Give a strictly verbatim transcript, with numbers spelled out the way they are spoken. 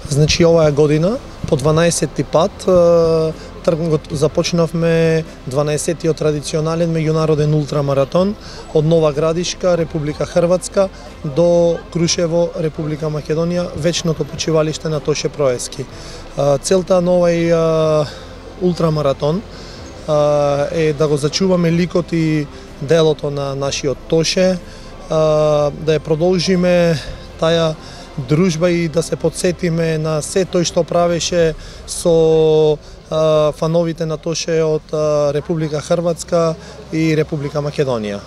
Значи оваа година по дванаесети пат го започнавме дванаесеттиот традиционален меѓународен ултрамаратон од Нова Градишка, Република Хрватска до Крушево, Република Македонија, вечното почивалиште на Тоше Проески. Целта на овај ултрамаратон е да го зачуваме ликот и делото на нашиот Тоше, да ја продолжиме таа дружба и да се подсетиме на се тој што правеше со фановите на Тоше од Република Хрватска и Република Македонија.